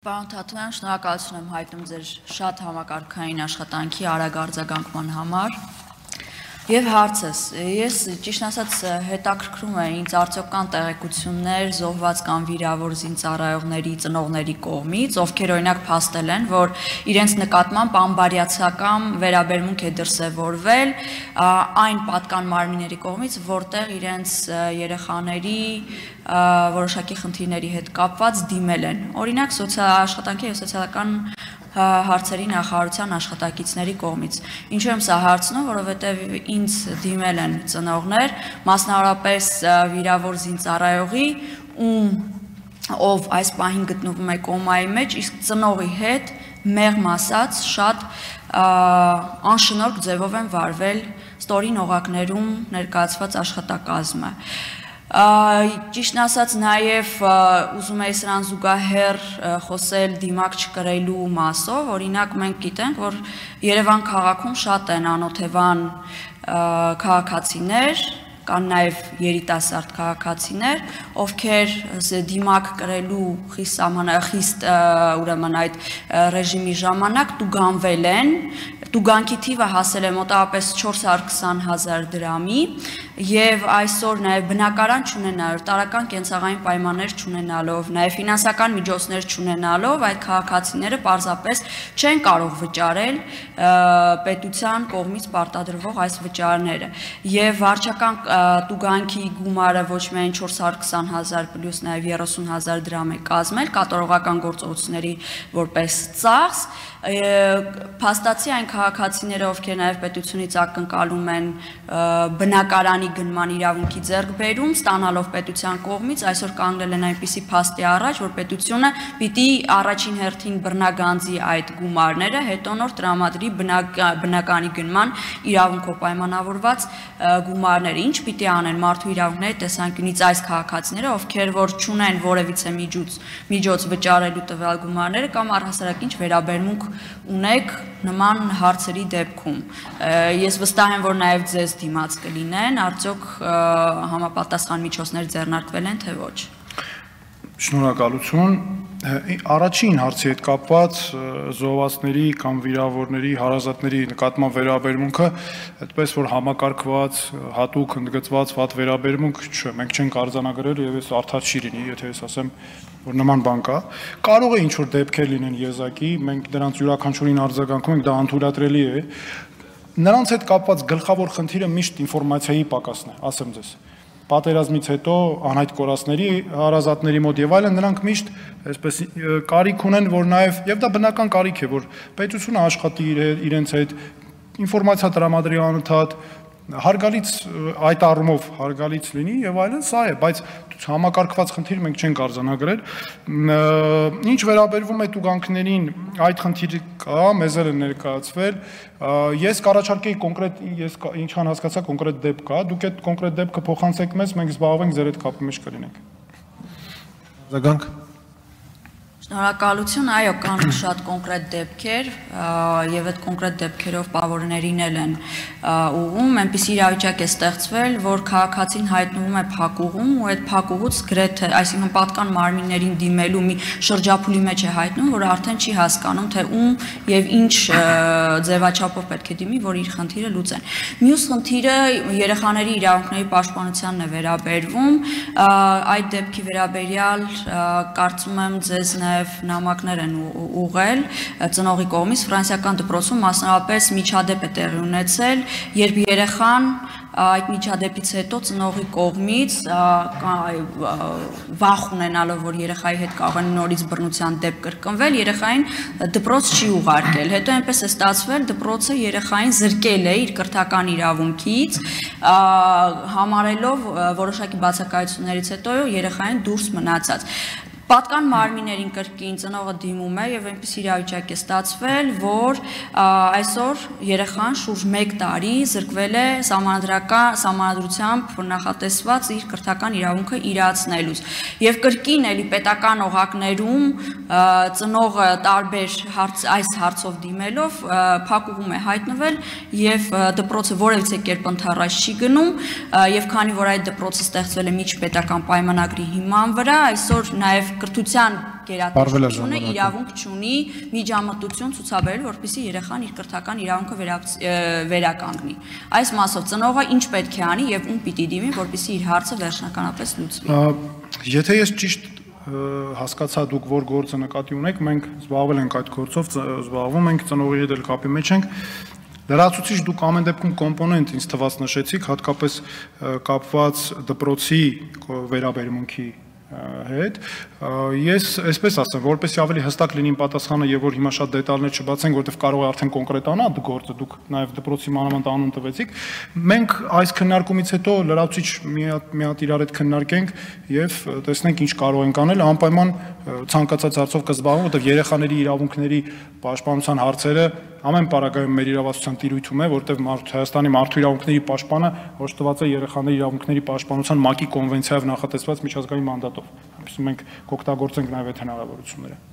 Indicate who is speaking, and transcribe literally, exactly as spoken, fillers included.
Speaker 1: Պարոն Թաթոյան, շնորհակալություն եմ հայտնում ձեր շատ համակարգային աշխատանքի արագ արձագանքման համար։ Եվ հարցս, ես ճիշտ ասած հետաքրքրում է ինձ արդյոք կան տեղեկություններ զոհված կամ վիրավոր զինծառայողների ծնողների կողմից, ովքեր օրինակ փաստել են, որ իրենց նկատմամբ անբարյացակամ վերաբերմունք է դրսևորվել այն պատկան մարմինների կողմից, որտեղ իրենց երեխաների որոշակի խնդիրների հետ կապված դիմել են։ Օրինակ սոցիալական եւ սոցիալական հարցերի նախարարության աշխատակիցների կողմից։ Ինչու եմ սա հարցնում, որովհետև ինձ դիմել են ծնողներ, մասնավորապես վիրավոր զինծառայողի, ում ով այս պահին գտնվում է կոմայի մեջ, իսկ ծնողի հետ մեղմ ասած շատ անշնորհք ձևով են վարվել ստորին օղակներում ներկայացված աշխատակազմը։ Ճիշտն ասած նաև ուզում էի սրան զուգահեռ խոսել դիմակ չկրելու մասով, օրինակ մենք գիտենք, որ Երևան քաղաքում շատ են անօթևան քաղաքացիներ, կան նաև երիտասարդ քաղաքացիներ, ովքեր դիմակ կրելու խիստ ուրեմն այդ ռեժիմի ժամանակ տուգանվել են, տուգանքի թիվը հասել է մոտավորապես չորս հարյուր քսան հազար դրամի եւ այսօր նաեւ բնակարան չունենալով, տարական կենցաղային պայմաններ չունենալով, նաեւ ֆինանսական միջոցներ չունենալով այդ քաղաքացիները պարզապես չեն կարող վճարել պետության կողմից պարտադրվող այս վճարները եւ վարչական տուգանքի գումարը ոչ միայն չորս հարյուր քսան հազար պլյուս նաեւ երեսուն հազար դրամ է կազմել կատարողական գործողությունների որպես ծախս փաստացի այն քաղաքացիները, ովքեր նաև պետությունից ակնկալում են բնակարանի գնման իրավունքի ձեռքբերում, ստանալով պետության կողմից, այսօր կանգնել են այնպիսի փաստի առաջ, որ պետությունը պիտի առաջին հերթին բռնագանձի այդ գումարները, հետո նոր տրամադրի բնականի գնման իրավունքով պայմանավորված գումարները։ Ինչ պիտի անեն մարդու իրավունքների տեսանկյունից այս քաղաքացիները, ովքեր որ չունեն որևիցե միջոց, միջոց վճարելու տվյալ գումարները կամ առհասարակ ինչ վերաբերմունք ունեք նման հարցերի դեպքում։ Ես վստահ եմ, որ նաև ձեզ դիմաց կլինեն, արդյոք համապատասխան միջոցներ ձեռնարկվել են, թե ոչ։
Speaker 2: Շնորհակալություն։ Առաջին հարցի հետ կապված զոհվածների կամ վիրավորների, հարազատների նկատմամբ վերաբերմունքը, այդպես որ համակարգված, հատուկ ընդգծված վատ վերաբերմունք չէ, մենք չենք արձանագրել եւ ես արդար չի լինի, եթե ես ասեմ, որ նման բան կա։ Կարող է ինչ-որ դեպքեր լինեն եզակի, մենք դրանց յուրաքանչյուրին արձագանքում ենք, դա անթույլատրելի է։ Նրանց հետ կապված գլխավոր խնդիրը միշտ ինֆորմացիայի պակասն է, ասեմ ձեզ։ Պատերազմից հետո անհայտ կորածների, հարազատների մոտ եւ այլն նրանք միշտ այսպես կարիք ունեն, որ նաեւ եւ դա բնական կարիք է, որ պետությունը աշխատի իրենց հետ ինֆորմացիա տրամադրի անընդհատ հարգալից այդ առումով հարգալից լինի եւ այլն, սա է, բայց համակարգված խնդիր մենք չենք արձանագրել։ Ինչ վերաբերվում է տուգանքներին, այդ խնդիրը կա, մեզ էլ է ներկայացվել։ Ես կառաջարկեի կոնկրետ, ես ինչքան հասկացա կոնկրետ դեպք կա, դուք այդ կոնկրետ դեպքը փոխանցեք մեզ, մենք զբաղվենք ձեր հետ կապի մեջ կլինենք։
Speaker 3: Զագանք
Speaker 1: Շնորհակալություն, այո, կան շատ կոնկրետ դեպքեր եւ այդ կոնկրետ դեպքերով պավորներին էլ են ուղում, այնպիսի իրավիճակ է ստեղծվել, որ քաղաքացին հայտնվում է փակուղում ու այդ փակուղուց գրեթե, այսինքն պատկան մարմիններին դիմելու մի շրջափուլի մեջ է հայտնվում, որ արդեն չի հասկանում, թե ում եւ ինչ ձևաչափով պետք է դիմի, որ իր խնդիրը լուծեն։ Մյուս խնդիրը երեխաների իրավունքների պաշտպանությանն է վերաբերվում, այդ դեպքի վերաբերյալ կարծում եմ ձեզ նաև նամակներ են ուղղել ծնողի կողմից ֆրանսիական դպրոցում մասնավորապես միջադեպ է տեղի ունեցել, երբ երեխան այդ միջադեպից հետո ծնողի կողմից վախ ունենալով, որ երեխայի հետ կարող են նորից բռնության դեպք կրկնվել, երեխային դպրոց չի ուղարկել։ Հետո այնպես է ստացվել, դպրոցը երեխային զրկել է իր կրթական իրավունքից, համարելով որոշակի բացակայություններից հետո երեխային դուրս մնացած։ Պատկան մարմիններին կրկին ծնողը դիմում է եւ այնպես իրավիճակ է ստացվել, որ այսօր երեխան շուրջ մեկ տարի զրկվել է սահմանադրական սահմանադրությամբ նախատեսված իր կրթական իրավունքը իրացնելուց։ Եվ կրկին էլի պետական օղակներում ծնողը տարբեր հարց այս հարցով դիմելով փակուղում է հայտնվել եւ դպրոցը որևիցե կերպ ընդառաջ չի գնում եւ քանի որ այդ դպրոցը ստեղծվել է միջպետական պայմանագրի հիման վրա, այսօր նաեւ կրթության գերատեսչությունը իրավունք չունի միջամտություն ցուցաբերել, որպեսզի երեխան իր կրթական իրավունքը վերականգնի։ Այս մասով ծնողը ինչ պետք է անի եւ ում պիտի դիմի, որպեսզի իր հարցը վերջնականապես լուծվի։
Speaker 2: Եթե ես ճիշտ հասկացա դուք որ գործը նկատի ունեք, մենք զբաղվել ենք այդ գործով, զբաղվում ենք, ծնողի հետ էլ կապի մեջ ենք։ Լրացուցիչ դուք ամեն դեպքում կոմպոնենտ ինձ թվաց նշեցիք, հատկապես կապված դպրոցի վերաբերմունքի հետ, ես այսպես ասեմ, որպեսզի ավելի հստակ լինի պատասխանը եւ որ հիմա շատ դետալներ չբացենք, որովհետեւ կարող է արդեն կոնկրետանա գործը, դուք նաեւ դպրոցի մանավանդ անուն տվեցիք։ Մենք այս քննարկումից հետո լրացուցիչ մի հատ իրար հետ քննարկենք եւ տեսնենք ինչ կարող ենք անել, անպայման ցանկացած հարցով կզբաղվենք, որովհետեւ երեխաների իրավունքների պաշտպանության հարցերը ամեն պարագայում մեր իրավասության տիրույթում է, որովհետև Հայաստանի մարդու իրավունքների պաշտպանը հոշտված է երեխաների իրավունքների պաշտպանության ՄԱԿ-ի կոնվենցիայով նախատեսված միջազգային մանդատով։ Այսինքն մենք կօգտագործենք նաև այդ հնարավորությունները։